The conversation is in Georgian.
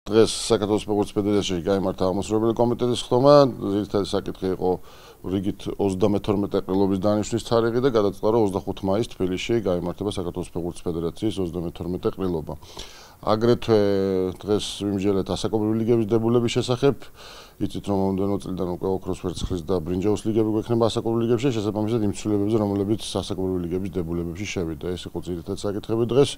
დღეს საქართველოს ფეხბურთის ფედერაციაში გაიმართა აღმასრულებელი კომიტეტის ხდომა, ძირითადი საკითხი იყო რიგით 32 ყრილობის დანიშვნის თარიღი და გადაწყდა, რომ 25 მაისს თბილისში გაიმართება საქართველოს ფეხბურთის ფედერაციის 32 ყრილობა. აგრეთვე დღეს ვიმსჯელეთ ასაკობრივი ლიგების დებულების შესახებ. იცით, რომ მომდევნო წლიდან უკვე ოქროს ვერცხლის და ბრინჯაოს ლიგები გვექნება ასაკობრივი ლიგებში, შესაბამისად იმ ცვლილებებზე, რომლებიც ასაკობრივი ლიგების დებულებებში შევიდა. ეს იყო ძირითადი საკითხები დღეს.